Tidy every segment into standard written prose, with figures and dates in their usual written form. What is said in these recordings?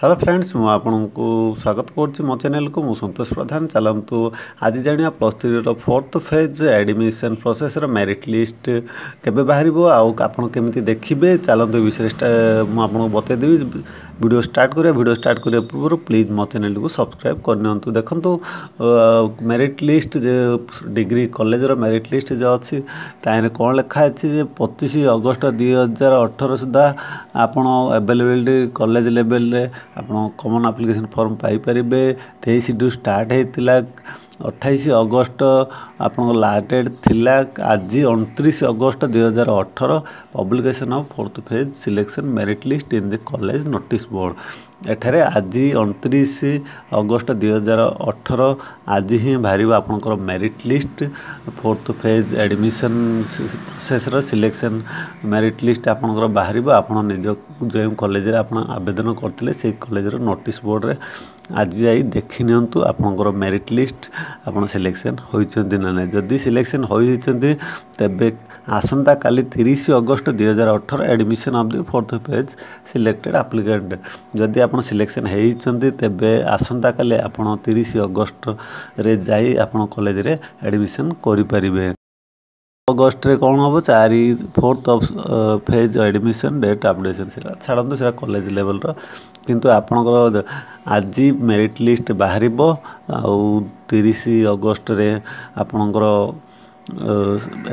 Hello friends, ମୁଁ ଆପଣଙ୍କୁ ସ୍ୱାଗତ କରୁଛି ମୋ ଚ୍ୟାନେଲକୁ। ମୁଁ ସନ୍ତୋଷ ପ୍ରଧାନ। ଚାଲନ୍ତୁ ଆଜି ଜାଣିବା ପ୍ଲସ୍ ଥ୍ରୀର ଫୋର୍ଥ ଫେଜ୍ ଆଡ଼ମିସନ୍ ପ୍ରୋସେସ୍ର ମେରିଟ୍ ଲିଷ୍ଟ କେବେ ବାହାରିବ ଆଉ ଆପଣ କେମିତି ଦେଖିବେ। ଚାଲନ୍ତୁ ଏ ବିଷୟରେ ମୁଁ ଆପଣଙ୍କୁ ବତେଇଦେବି। ଭିଡ଼ିଓ ଷ୍ଟାର୍ଟ କରିବା। ଭିଡ଼ିଓ ଷ୍ଟାର୍ଟ କରିବା ପୂର୍ବରୁ ପ୍ଲିଜ୍ ମୋ ଚ୍ୟାନେଲଟିକୁ ସବସ୍କ୍ରାଇବ୍ କରିନିଅନ୍ତୁ। ଦେଖନ୍ତୁ, ମେରିଟ୍ ଲିଷ୍ଟ ଯେ ଡିଗ୍ରୀ କଲେଜର ମେରିଟ୍ ଲିଷ୍ଟ ଯେଉଁ ଅଛି, ତାହିଁରେ କ'ଣ ଲେଖା ଅଛି ଯେ 25 ଅଗଷ୍ଟ 2018 ସୁଦ୍ଧା ଆପଣ ଆଭେଲେବିଲିଟି କଲେଜ ଲେଭେଲରେ ଆପଣ କମନ୍ ଆପ୍ଲିକେସନ୍ ଫର୍ମ ପାଇପାରିବେ। 23ଠୁ ଷ୍ଟାର୍ଟ ହେଇଥିଲା, 28 ଅଗଷ୍ଟ ଆପଣଙ୍କ ଲାଷ୍ଟ ଡେଟ୍ ଥିଲା। ଆଜି 29 August 2018, publication of fourth phase selection merit list in the college notice board। ଏଠାରେ ଆଜି 29 ଅଗଷ୍ଟ 2018, ଆଜି ହିଁ ବାହାରିବ ଆପଣଙ୍କର merit list. Fourth phase admission ପ୍ରୋସେସ୍ର selection merit list ଆପଣଙ୍କର ବାହାରିବ। ଆପଣ ନିଜ ଯେଉଁ କଲେଜରେ ଆପଣ ଆବେଦନ କରିଥିଲେ, ସେଇ କଲେଜର ନୋଟିସ୍ ବୋର୍ଡ଼ରେ ଆଜି ଯାଇ ଦେଖି ନିଅନ୍ତୁ ଆପଣଙ୍କର ମେରିଟ୍ ଲିଷ୍ଟ, ଆପଣ ସିଲେକ୍ସନ୍ ହୋଇଛନ୍ତି ନା ନାହିଁ। ଯଦି ସିଲେକ୍ସନ୍ ହୋଇଯାଇଛନ୍ତି, ତେବେ ଆସନ୍ତାକାଲି 30 August 2018 admission of the fourth phase selected applicant। ଯଦି ଆପଣ ସିଲେକ୍ସନ୍ ହେଇଛନ୍ତି, ତେବେ ଆସନ୍ତାକାଲି ଆପଣ 30 ଅଗଷ୍ଟରେ ଯାଇ ଆପଣ କଲେଜରେ ଆଡ଼ମିସନ୍ କରିପାରିବେ। ଅଗଷ୍ଟରେ କ'ଣ ହେବ? ଚାରି fourth of phase admission date updation, ସେଇଟା ଛାଡ଼ନ୍ତୁ, ସେଇଟା କଲେଜ ଲେଭେଲର। କିନ୍ତୁ ଆପଣଙ୍କର ଆଜି ମେରିଟ୍ ଲିଷ୍ଟ ବାହାରିବ ଆଉ 30 ଅଗଷ୍ଟରେ ଆପଣଙ୍କର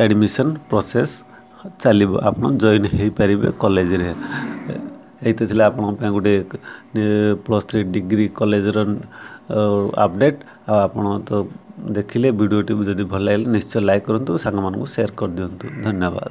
ଆଡ଼ମିସନ୍ ପ୍ରୋସେସ୍ ଚାଲିବ, ଆପଣ ଜଏନ୍ ହେଇପାରିବେ କଲେଜରେ। ଏଇ ତ ଥିଲା ଆପଣଙ୍କ ପାଇଁ ଗୋଟେ ପ୍ଲସ୍ ଥ୍ରୀ ଡିଗ୍ରୀ କଲେଜର ଅପଡ଼େଟ୍। ଆଉ ଆପଣ ତ ଦେଖିଲେ, ଭିଡ଼ିଓଟି ଯଦି ଭଲ ଲାଗିଲେ ନିଶ୍ଚୟ ଲାଇକ୍ କରନ୍ତୁ, ସାଙ୍ଗମାନଙ୍କୁ ସେୟାର କରିଦିଅନ୍ତୁ। ଧନ୍ୟବାଦ।